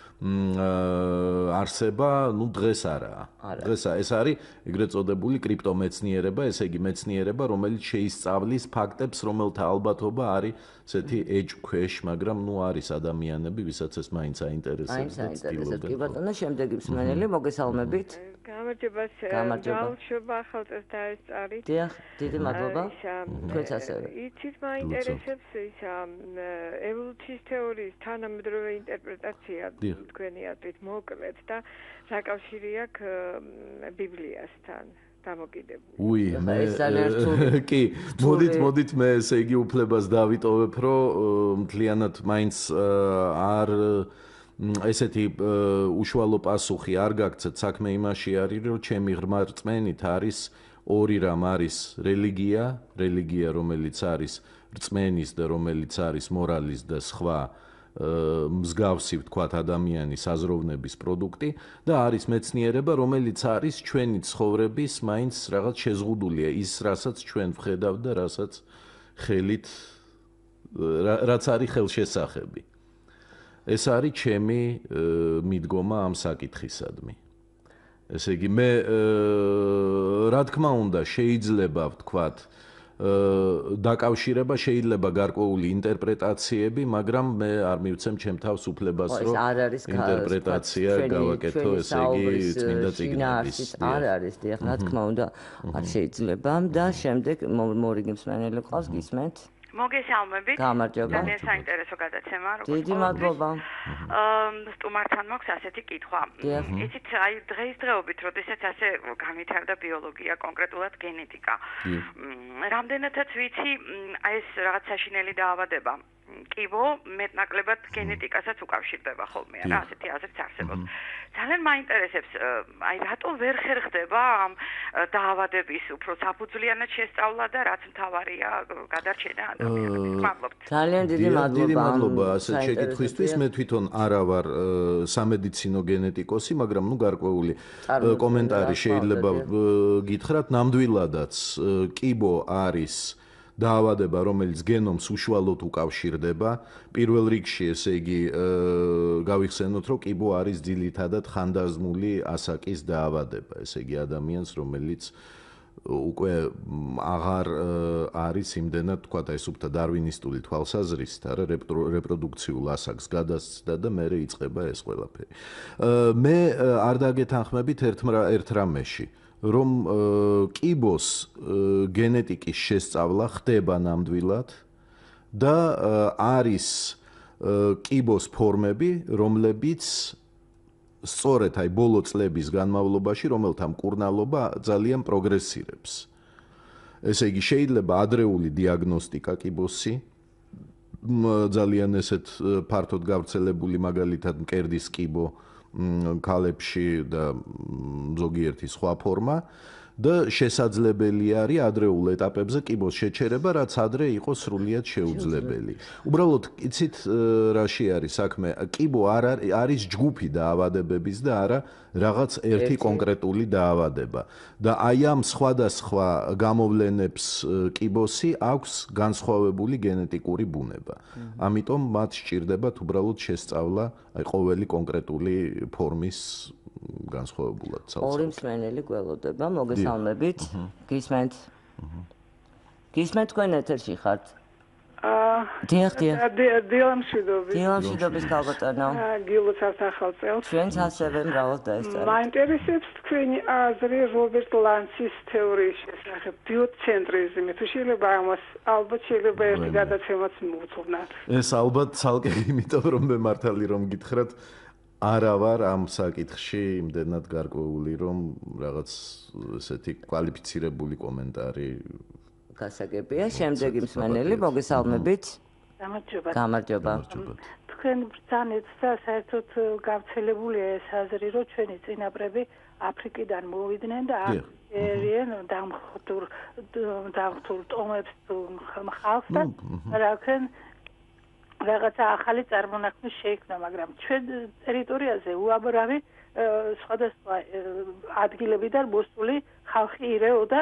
არსება, ну დღეს არაა. დღეს ეს არის ეგრეთ წოდებული კრიპტომეცნიერება, ესე იგი მეცნიერება, რომელიც შეისწავლის ფაქტებს, რომელთა ალბათობა არის ესეთი ეჭქვეშ, მაგრამ ну არის ადამიანები, ვისაც ეს მაინც აინტერესებს და ცდილობენ. კი ბატონო, შემდეგი მსმენელი, მოგესალმებით. გამარჯობა, ბავშვობა ახალწელს დაესწარით. დიახ, დიდი მადლობა. თქვენც ასევე. იცით, მაინტერესებს ის ევოლუციის თეორიის თანამედროვე ინტერპრეტაცია თქვენი აზრით მოკლედ და საკავშირი აქვს ბიბლიასთან დამოკიდებული. უი, მე კი, მოდით, მოდით მე ესე იგი უფლებას დავიტოვებ, რომ მთლიანად მაინც არ ესეთი უშუალო პასუხი არ გაგცეთ, საქმე იმაში არის, რომ ჩემი ღრმა რწმენით არის ორი რამ, არის რელიგია, რელიგია, რომელიც არის რწმენის და რომელიც არის მორალის და სხვა მსგავსი ვთქვათ ადამიანის აზროვნების პროდუქტი და არის მეცნიერება, რომელიც არის ჩვენი ცხოვრების მაინც რაღაც შეზღუდულია, ის რასაც ჩვენ ვხედავთ და რასაც ხელით რაც არის ხელშესახები. ეს არის ჩემი მიდგომა ამ საკითხისადმი. ესე იგი, მე რა თქმა უნდა, შეიძლება ვთქვათ, დაკავშირება შეიძლება გარკვეული ინტერპრეტაციები, მაგრამ მე არ მივცემ ჩემ თავს უფლებას, რომ ინტერპრეტაცია გავაკეთო, ესე იგი, წმინდა წიგნების. არ არის, დიახ, რა თქმა უნდა, არ შეიძლება და შემდეგ მორიგი მსმენელი ყავს, გისმენთ? მოგესალმებით. გამარჯობა. ძალიან საინტერესო გადაცემა, როგორც დიდი მადლობა. აა სტუმართან მაქვს ასეთი კითხვა. იცით, აი დღესდღეობით, როდესაც ასე განვითარდა ბიოლოგია, კონკრეტულად გენეტიკა. რამდენადაც ვიცი, აი ეს რაღაც საშინელი დაავადება კიბო მეტნაკლებად გენეტიკასაც უკავშირდება ხოლმე, რა, ასეთი აზრიც არსებობს. ძალიან მაინტერესებს, აი რატო ვერ ხერხდება ამ დაავადების უფრო საფუძვლიანად შესწავლა და რაც მთავარია გადარჩენა ადამიანების. მადლობთ. ძალიან დიდი მადლობა. დიდი მადლობა ასეთ შეკითხვისთვის. მე თვითონ არა ვარ სამედიცინო გენეტიკოსი, მაგრამ ნუ გარკვეული კომენტარი შეიძლება გითხრათ. ნამდვილადაც კიბო არის დაავადება, რომელიც გენომს უშუალოდ უკავშირდება. პირველ რიგში, ესე იგი, გავიხსენოთ, რომ კიბო არის ძირითადად ხანდაზმული ასაკის დაავადება, ესე იგი, ადამიანს, რომელიც უკვე აღარ არის იმდენად, თქვათ, ეს უფრო დარვინისტული თვალსაზრისით, არა, რეპროდუქციულ ასაკს გადასცდა და მერე იწყება ეს ყველაფერი. მე არ დაგეთანხმებით ერთ რამეში. რომ კიბოს გენეტიკის შესწავლა ხდება ნამდვილად და არის კიბოს ფორმები, რომლებიც სწორედ აი ბოლო წლების განმავლობაში, რომელთა მკურნალობა ძალიან პროგრესირებს. ესე იგი, შეიძლება ადრეული დიაგნოსტიკა კიბოსი, ძალიან ესეთ ფართოდ გავრცელებული მაგალითად მკერდის კიბო ქალებში და ზოგიერთი სხვა ფორმა და შესაძლებელი არის ადრეულ ეტაპებზე კიბოს შეჩერება, რაც ადრე იყო სრულიად შეუძლებელი. უბრალოდ, იცით, რაში არის საქმე? კიბო არ არის ჯგუფი დაავადებების და არა რაღაც ერთი კონკრეტული დაავადება. და აი ამ სხვადასხვა გამოვლენებს კიბოსი აქვს განსხვავებული გენეტიკური ბუნება. ამიტომ მათ სჭირდებათ უბრალოდ შესწავლა აი ყოველი კონკრეტული ფორმის განსხვავებულად ცალ-ცალკე. ორი მსმენელი გველოდება, მოგესალმებით. გისმენთ? გისმენთ, თქვენ ეთერში ხართ? აა დიახ, დიახ. დილამშვიდობის. დილამშვიდობის ქალბატონო. გილოცავთ ახალწელს. ჩვენც ასევე მრავალ დაესწარით. მაინტერესებს თქვენი აზრი რობერტ ლანცის თეორიის შესახებ, ბიოცენტრიზმი. თუ შეიძლება ამას ალბათ შეიძლება ერთი გადაცემაც მოვუძღვნათ. ეს ალბათ ცალკე იმიტომ რომ მე მართალი რომ გითხრათ არა ვარ ამ საკითხში იმდენად გარკვეული, რომ რაღაც ესეთი კვალიფიცირებული კომენტარი გასაგებია. შემდეგი მსმენელი, მოგესალმებით. გამარჯობა. გამარჯობა. თქვენ ბრძანეთ და საერთოდ გავრცელებულია ეს აზრი, რომ ჩვენი წინაპრები აფრიკიდან მოვიდნენ და ერიან დამხტურ დამხტურ ტომებს ხალხს და რაკენ რაღაცა ახალი წარმონაქმნი შეიქმნა, მაგრამ ჩვენ ტერიტორიაზე უამრავი სხვადასხვა ადგილებიდან მოსული ხალხი ირეოდა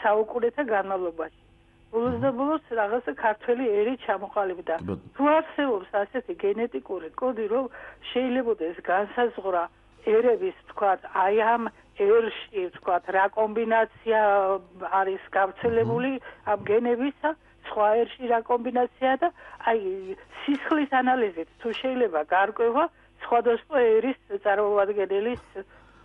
საუკუნეთა განმავლობაში. ბოლოს და ბოლოს რაღაცა ქართველი ერი ჩამოყალიბდა. თუ არსებობს ასეთი გენეტიკური კოდი, რომ შეიძლება ეს განსაზღვრა ერების, თქვათ, აი ამ ერში, თქვათ, რა კომბინაცია არის გავრცელებული ამ გენებისა, სხვა ერში რა კომბინაცია და აი სისხლის ანალიზით თუ შეიძლება გარკვევა სხვადასხვა ერის წარმომადგენლის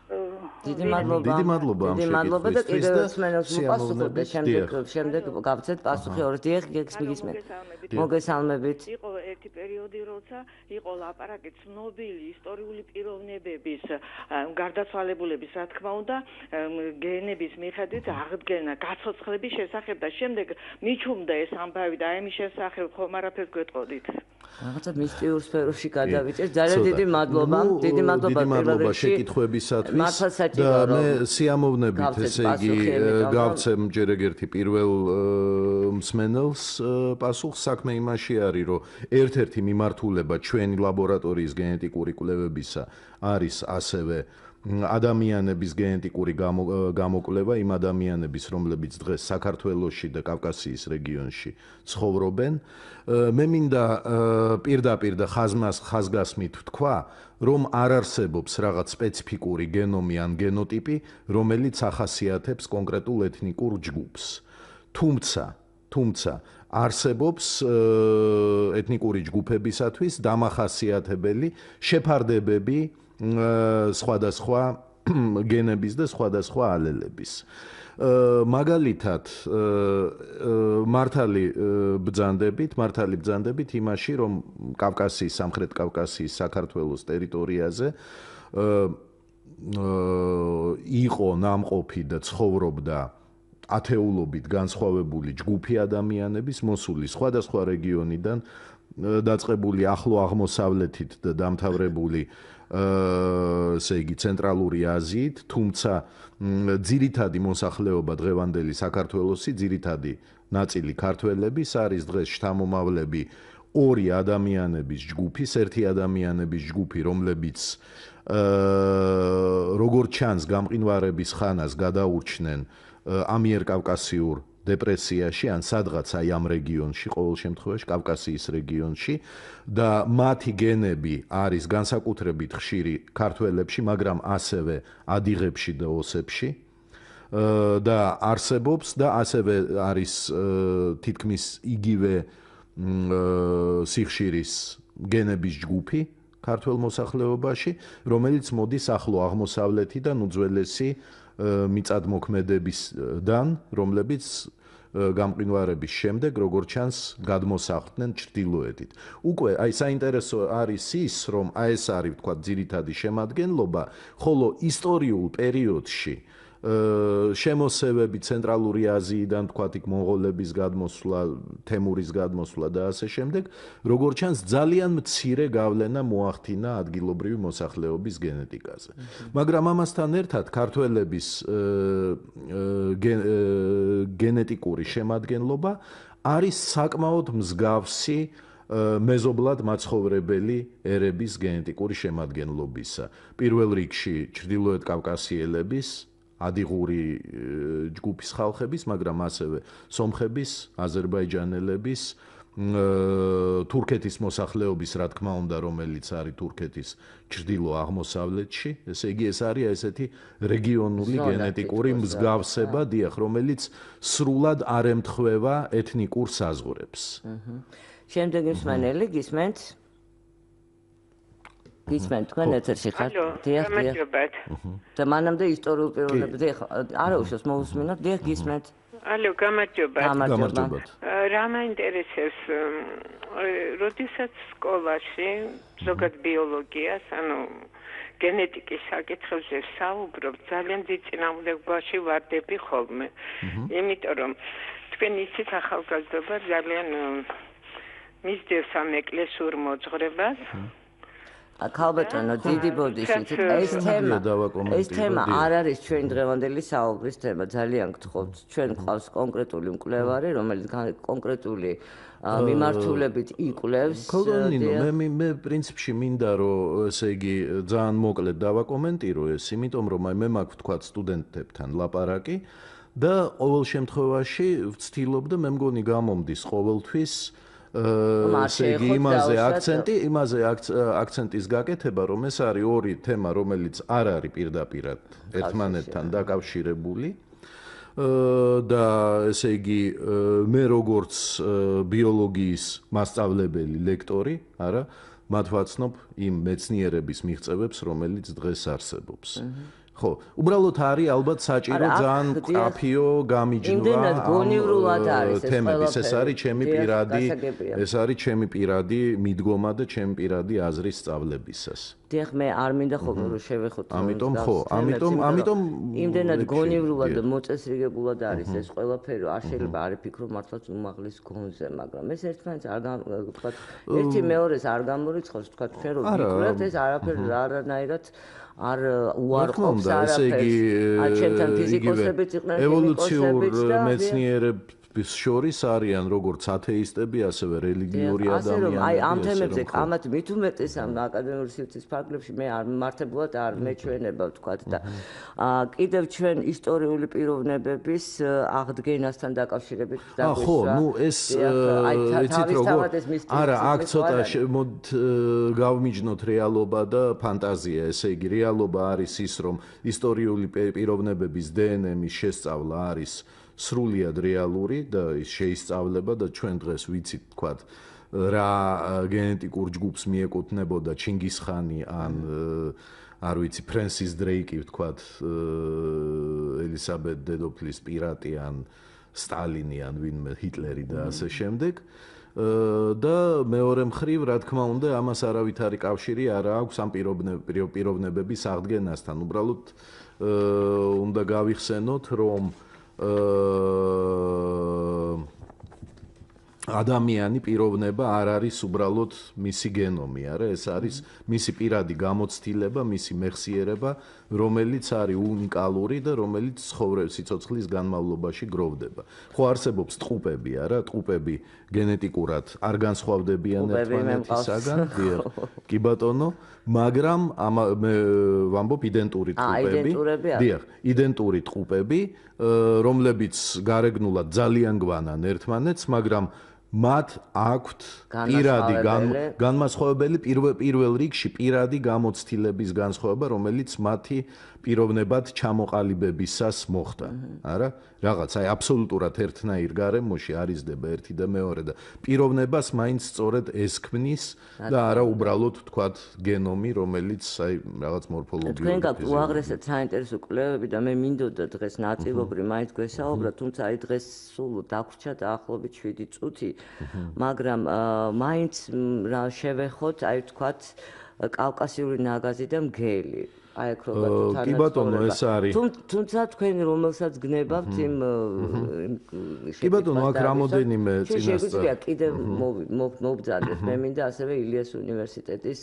დიდი მადლობა. დიდი მადლობა ამ დიდი მადლობა და შეკითხვისთვის კიდევ და მსმენელს მოპასუხოთ და შემდეგ შემდეგ გავცეთ პასუხი ორი დიახ გეგმისმენთ. მოგესალმებით. იყო ერთი პერიოდი, როცა იყო ლაპარაკი ცნობილი ისტორიული პიროვნებების გარდაცვალებულების, რა თქმა უნდა, გენების მიხედვით აღდგენა, გაცოცხლების შესახებ და შემდეგ მიჩუმდა ეს ამბავი და აი მის შესახებ ხომ არაფერს გვეტყოდით. რაღაცა მისტიურ სფეროში გადავიწერ. ძალიან დიდი მადლობა. დიდი მადლობა პირველ რიგში შეკითხვებისათვის და მე სიამოვნებით, ესე იგი, გავცემ ჯერ ეგერთი პირველ მსმენელს პასუხს. საქმე იმაში არის, რომ ერთ-ერთი მიმართულება ჩვენი ლაბორატორიის გენეტიკური კვლევებისა არის ასევე ადამიანების გენეტიკური გამოკვლევა, იმ ადამიანების, რომლებიც დღეს საქართველოში და კავკასიის რეგიონში ცხოვრობენ. მე მინდა პირდაპირ და ხაზმას ხაზგასმით ვთქვა, რომ არ არსებობს რაღაც სპეციფიკური გენომი ან გენოტიპი, რომელიც ახასიათებს კონკრეტულ ეთნიკურ ჯგუფს. თუმცა, თუმცა არსებობს ეთნიკური ჯგუფებისათვის დამახასიათებელი შეფარდებები სხვადასხვა გენების და სხვადასხვა ალელების. მაგალითად, მართალი ბრძანდებით, მართალი ბრძანდებით იმაში, რომ კავკასიის, სამხრეთ კავკასიის საქართველოს ტერიტორიაზე იყო ნამყოფი და ცხოვრობდა ათეულობით განსხვავებული ჯგუფი ადამიანების, მოსული სხვადასხვა რეგიონიდან, დაწყებული ახლო აღმოსავლეთით და დამთავრებული ესე იგი ცენტრალური აზიით, თუმცა ძირითადი მოსახლეობა დღევანდელი საქართველოსი, ძირითადი ნაწილი ქართველების არის დღეს შთამომავლები ორი ადამიანების ჯგუფის, ერთი ადამიანების ჯგუფი, რომლებიც როგორც ჩანს გამყინვარების ხანას გადაურჩნენ ამიერკავკასიურ დეპრესიაში ან სადღაც აი ამ რეგიონში, ყოველ შემთხვევაში კავკასიის რეგიონში და მათი გენები არის განსაკუთრებით ხშირი ქართველებში, მაგრამ ასევე ადიღებში და ოსებში და არსებობს და ასევე არის თითქმის იგივე სიხშირის გენების ჯგუფი ქართველ მოსახლეობაში, რომელიც მოდის ახლო აღმოსავლეთიდან უძველესი მიწადმოქმედებისგან, რომლებიც გამყინვარების შემდეგ, როგორც ჩანს, გადმოსახლდნენ ჩრდილოეთით. უკვე აი საინტერესო არის ის, რომ აი ეს არის, ვთქვათ, ძირითადი შემადგენლობა, ხოლო ისტორიულ პერიოდში შემოსევები ცენტრალური აზიიდან, ვთქვათ, იქ მონღოლების გადმოსვლა, თემურის გადმოსვლა და ასე შემდეგ, როგორც ჩანს, ძალიან მცირე გავლენა მოახდინა ადგილობრივი მოსახლეობის გენეტიკაზე. მაგრამ ამასთან ერთად ქართველების გენეტიკური შემადგენლობა არის საკმაოდ მსგავსი მეზობლად მაცხოვრებელი ერების გენეტიკური შემადგენლობისა. პირველ რიგში ჩრდილოეთ კავკასიელების ადიღური ჯგუფის ხალხების, მაგრამ ასევე სომხების, აზერბაიჯანელების, თურქეთის მოსახლეობის, რა თქმა უნდა, რომელიც არის თურქეთის ჩრდილო-აღმოსავლეთში, ესე იგი ეს არის ესეთი რეგიონული გენეტიკური მსგავსება, დიახ, რომელიც სრულად არ ემთხვევა ეთნიკურ საზღვრებს. შემდეგი მსმენელი გისმენთ? გისმენთ, თქვენ ეთერში ხართ? დიახ, დიახ. და მანამდე ისტორიულ პიროვნებებზე არა უშავს მოусმინოთ, დიახ, გისმენთ. ალო, გამარჯობა. გამარჯობა. რა მაინტერესებს, როდესაც სკოლაში ზოგად ბიოლოგიას, ანუ გენეტიკის საკითხებზე საუბრობ, ძალიან დიდ წინააღმდეგობაში ვარდები ხოლმე. იმიტომ რომ თქვენ იცით ახალგაზრდობა ძალიან მისდევს ამ ეკლესურ მოძღვრებას. ქალბატონო, დიდი ბოდიშით ეს თემა ეს თემა არ არის ჩვენ დღევანდელი საუბრის თემა. ძალიან გთხოვთ, ჩვენ გვყავს კონკრეტული მკვლევარი, რომელიც კონკრეტული მიმართულებით იკვლევს. ქალბატონო, მე მე პრინციპში მინდა რომ ესე იგი ძალიან მოკლედ დავაკომენტირო ეს, იმიტომ რომ აი მე მაქვს თქვა სტუდენტებთან ლაპარაკი და ყოველ შემთხვევაში ვცდილობ და მე მგონი გამომდის ყოველთვის ესე იგი იმაზე აქცენტი, იმაზე აქცენტის გაკეთება, რომ ეს არის ორი თემა, რომელიც არ არის პირდაპირად ერთმანეთთან დაკავშირებული. და ესე იგი მე როგორც ბიოლოგიის მასწავლებელი, ლექტორი, არა, მათ ვაცნობ იმ მეცნიერების მიღწევებს, რომელიც დღეს არსებობს. ხო, უბრალოდ არის ალბათ საჭირო ძალიან მკაფიო გამიჯნვა. იმდენად გონივრულად არის ეს თემების, ეს არის ჩემი პირადი, ეს არის ჩემი პირადი მიდგომა და ჩემი პირადი აზრის სწავლებისას. დიახ, მე არ მინდა ხოლმე რომ შევეხოთ. ამიტომ ხო, ამიტომ ამიტომ იმდენად გონივრულად და მოწესრიგებულად არის ეს ყველაფერი, არ შეიძლება არ იფიქრო მართლაც უმაღლის გონზე, მაგრამ ეს ერთმანეთს არ თქვა, ერთი მეორეს არ გამორიცხავს, თქვა ჩვენ რომ ვიკვლევთ ეს არაფერი არანაირად არ უარყოფს არაფერს. არ ჩემთან ფიზიკოსებიც იყვნენ, ევოლუციურ მეცნიერებს შორის არიან როგორც ათეისტები, ასევე რელიგიური ადამიანები. აი ამ თემებზე კამათ მით უმეტეს ამ აკადემიური სივრცის ფარგლებში მე არ მართებულად არ მეჩვენება ვთქვათ და კიდევ ჩვენ ისტორიული პიროვნებების აღდგენასთან დაკავშირებით დაგვისვა. ხო, ნუ ეს იცით როგორ არა, აქ ცოტა გავმიჯნოთ რეალობა და ფანტაზია, ესე იგი რეალობა არის ის, რომ ისტორიული პიროვნებების დე ენ ემის შესწავლა არის სრულიად რეალური და ის შეისწავლება და ჩვენ დღეს ვიცით თქვათ რა გენეტიკურ ჯგუფს მიეკუთვნებოდა ჩინგისხანი ან არ ვიცი ფრენსის დრეიკი თქვათ ელისაბედ დედოფლის პირატი ან სტალინი ან ვინმე ჰიტლერი და ასე შემდეგ და მეორე მხრივ რა თქმა უნდა ამას არავითარი კავშირი არ აქვს ამ პიროვნებების აღდგენასთან. უბრალოდ უნდა გავიხსენოთ რომ ადამიანი პიროვნება არ არის უბრალოდ მისი გენომი, არა, ეს არის მისი პირადი გამოცდილება, მისი მეხსიერება, რომელიც არის უნიკალური და რომელიც ცხოვრების სიცოცხლის განმავლობაში გროვდება. ხო არსებობს ტყუპები, არა, ტყუპები გენეტიკურად არ განსხვავდებიან ერთმანეთისაგან, კი ბატონო, მაგრამ მე ვამბობ იდენტური ტყუპები, დიახ, იდენტური ტყუპები, რომლებიც გარეგნულად ძალიან გვანან ერთმანეთს, მაგრამ მათ აქვთ პირადი განმასხვავებელი პირველ რიგში პირადი გამოცდილების განსხვავება, რომელიც მათი პიროვნებად ჩამოყალიბებისას მოხდა, არა? რაღაც აი აბსოლუტურად ერთნაირ გარემოში არიზდება ერთი და მეორე და პიროვნებას მაინც სწორედ ეს ქმნის და არა უბრალოდ თქვათ გენომი, რომელიც აი რაღაც მორფოლოგიური. თქვენ გაქვთ უაღრესად საინტერესო კვლევები და მე მინდოდა დღეს ნაწილობრივ მაინც გვესაუბრა, თუმცა აი დღეს სულ დაგვრჩა დაახლოებით შვიდი წუთი, მაგრამ მაინც რა შევეხოთ, აი თქვათ კავკასიური ნაგაზი და მგელი. აი აქ როგორ კი ბატონო ეს არის. თუმცა თქვენ რომელსაც გნებავთ იმ კი ბატონო აქ რამოდენიმე წინასწარ. შეგვიძლია კიდევ მოვბრძანდეთ. მე მინდა ასევე ილიას უნივერსიტეტის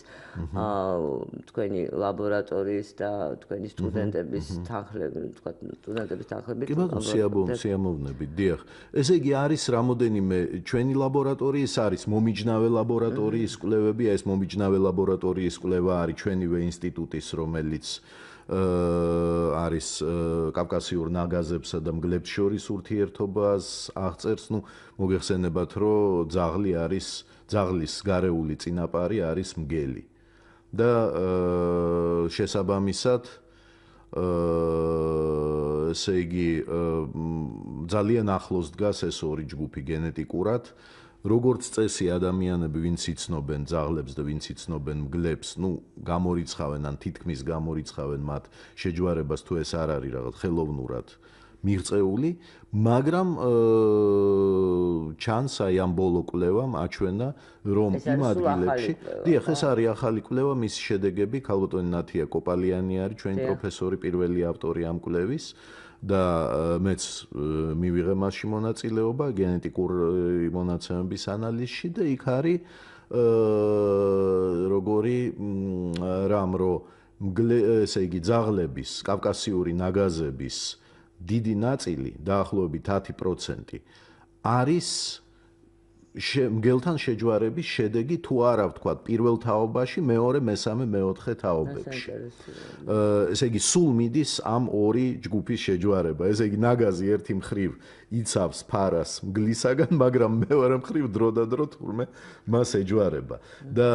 თქვენი ლაბორატორიის და თქვენი სტუდენტების თანხლები, თქვა სტუდენტების თანხლებით. კი ბატონო სიამოვნებით, დიახ. ესე იგი არის რამოდენიმე ჩვენი ლაბორატორიის არის მომიჯნავე ლაბორატორიის კვლევები, ეს მომიჯნავე ლაბორატორიის კვლევა არის ჩვენივე ინსტიტუტის, რომელიც არის კავკასიურ ნაგაზებსა და მგლებს შორის ურთიერთობას აღწერს, ну, მოგეხსენებათ, რომ ძაღლი არის, ძაღლის გარეული წინაპარი არის მგელი. და შესაბამისად ესე იგი ძალიან ახლოს დგას ეს ორი ჯგუფი გენეტიკურად. როგორც წესი ადამიანები, ვინც იცნობენ ძაღლებს და ვინც იცნობენ მგლებს, ну, გამორიცხავენ ან თითქმის გამორიცხავენ მათ შეჯვარებას, თუ ეს არ არის რაღაც ხელოვნურად მიღწეული, მაგრამ ჩანს აი ამ ბოლო კვლევამ აჩვენა, რომ იმ ადგილებში, დიახ, ეს არის ახალი კვლევა, მის შედეგები ქალბატონი ნათია კოპალიანი არის ჩვენი პროფესორი, პირველი ავტორი ამ კვლევის და მეც მივიღე მასში მონაწილეობა გენეტიკური მონაცემების ანალიზში და იქ არის როგორი რამ რო ესე იგი ძაღლების, კავკასიური ნაგაზების დიდი ნაწილი, დაახლოებით ათი პროცენტი არის მგელთან შეჯვარების შედეგი თუ არა ვთქვათ პირველ თაობაში, მეორე, მესამე, მეოთხე თაობებში. ესე იგი სულ მიდის ამ ორი ჯგუფის შეჯვარება. ესე იგი ნაგაზი ერთი მხრივ იცავს ფარას მგლისაგან, მაგრამ მეორე მხრივ დროდადრო თურმე მას ეჯვარება. და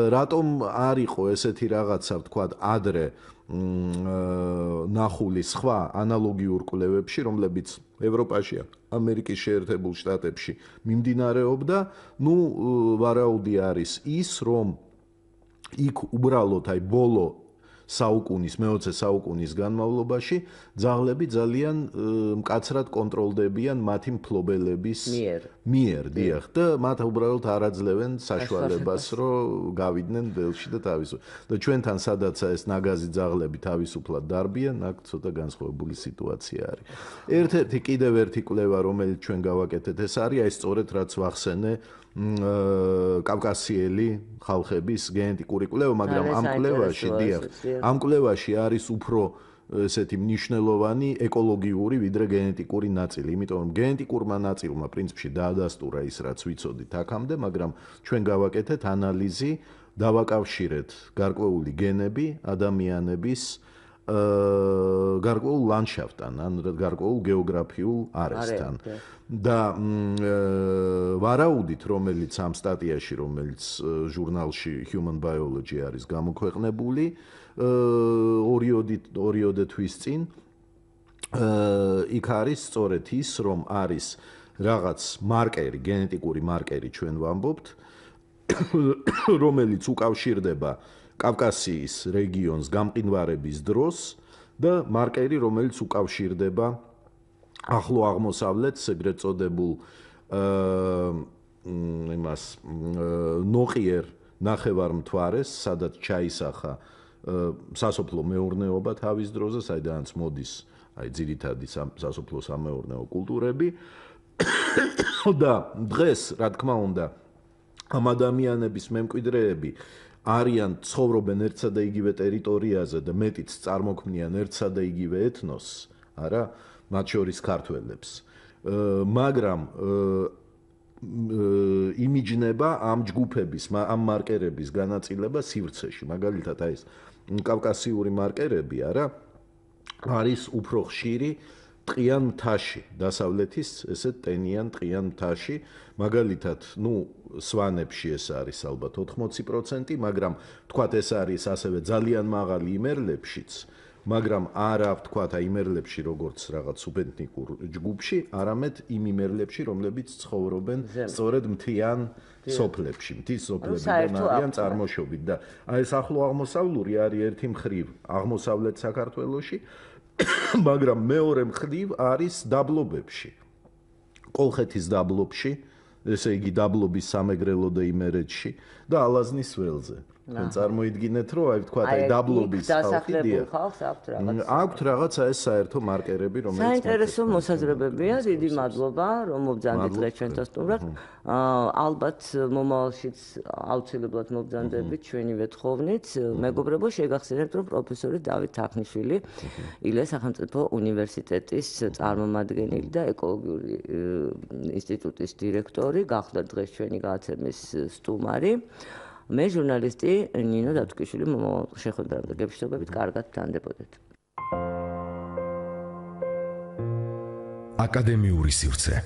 რატომ არ იყო ესეთი რაღაცა ვთქვათ ადრე ნახული სხვა ანალოგიურ კვლევებში, რომლებიც ევროპაში, ამერიკის შეერთებულ შტატებში მიმდინარეობდა, ну, ვარაუდი არის ის, რომ იქ უბრალოდ აი ბოლო საუკუნის, მეოცე საუკუნის განმავლობაში ძაღლები ძალიან მკაცრად კონტროლდებიან მათი მფლობელების მიერ, დიახ, და მათ უბრალოდ არ აძლევენ საშუალებას, რომ გავიდნენ ველში და თავისუფლად. და ჩვენთან სადაც ეს ნაგაზი ძაღლები თავისუფლად დარბიან, აქ ცოტა განსხვავებული სიტუაცია არის. ერთ-ერთი კიდევ ერთი კვლევა, რომელიც ჩვენ გავაკეთეთ, ეს არის აი სწორედ რაც ვახსენე კავკასიელი ხალხების გენეტიკური კვლევა, მაგრამ ამ კვლევაში, დიახ, ამ კვლევაში არის უფრო ესეთი მნიშვნელოვანი ეკოლოგიური ვიდრე გენეტიკური ნაწილი, იმიტომ რომ გენეტიკურმა ნაწილმა პრინციპში დაადასტურა ის, რაც ვიცოდით აქამდე, მაგრამ ჩვენ გავაკეთეთ ანალიზი, დავაკავშირეთ გარკვეული გენები ადამიანების გარკვეულ ლანდშაფტთან, ან გარკვეულ გეოგრაფიულ არეშთან. და ვარაუდით, რომელიც ამ სტატიაში, რომელიც ჟურნალში Human Biology არის გამოქვეყნებული, ორიოდე თვის წინ იქ არის სწორედ ის, რომ არის რაღაც მარკერი, გენეტიკური მარკერი ჩვენ ვამბობთ, რომელიც უკავშირდება კავკასიის რეგიონს გამყინვარების დროს და მარკერი, რომელიც უკავშირდება ახლო აღმოსავლეთს, ეგრეთ წოდებულ იმას ნოყიერ ნახევარმთვარეს, სადაც ჩაისახა სასოფლო მეურნეობა თავის დროზე, საიდანაც მოდის აი ძირითადი სასოფლო სამეურნეო კულტურები და დღეს, რა თქმა უნდა, ამ ადამიანების მემკვიდრეები არიან ცხოვრობენ ერთსა და იგივე ტერიტორიაზე და მეტიც წარმოქმნიან ერთსა და იგივე ეთნოსს, არა, მათ შორის ქართველებს. მაგრამ იმიჯნება ამ ჯგუფების, ამ მარკერების განაწილება სივრცეში, მაგალითად აი ეს კავკასიური მარკერები, არა, არის უფრო ხშირი ტყიან მთაში, დასავლეთის ესეთ ტენიან ტყიან მთაში, მაგალითად, ну, სვანებში ეს არის ალბათ ოთხმოცი პროცენტი, მაგრამ თქვათ ეს არის ასევე ძალიან მაღალი იმერლებშიც, მაგრამ არა ვთქვათ აი იმერლებში როგორც რაღაც სუბეთნიკურ ჯგუფში, არამედ იმ იმერლებში, რომლებიც ცხოვრობენ სწორედ მთიან სოფლებში, მთის სოფლებიდან არიან წარმოშობით და აი ეს ახლო აღმოსავლური არის ერთი მხრივ აღმოსავლეთ საქართველოში, მაგრამ მეორე მხრივ არის დაბლობებში. კოლხეთის დაბლობში, ესე იგი დაბლობის სამეგრელო და იმერეთში და ალაზნის ველზე. თქვენ წარმოიდგინეთ, რომ აი ვთქვათ, აი დაბლობის დასახლებულ ხალხს აქვთ რაღაც. აქვთ რაღაცა ეს საერთო მარკერები, რომელიც საინტერესო მოსაზრებებია, დიდი მადლობა, რომ მობრძანდით დღეს ჩვენთან სტუმრად. ალბათ მომავალშიც აუცილებლად მობრძანდებით ჩვენივე თხოვნით. მეგობრებო, შეგახსენებთ, რომ პროფესორი დავით თარხნიშვილი, ილეს სახელმწიფო უნივერსიტეტის წარმომადგენელი და ეკოლოგიური ინსტიტუტის დირექტორი, გახდა დღეს ჩვენი გადაცემის სტუმარი. მე ჟურნალისტი ნინო დავთქვიშვილი, შეხვედრამდე გეშտობებით, კარგად ვთანდებოდეთ. აკადემიური სივრცე.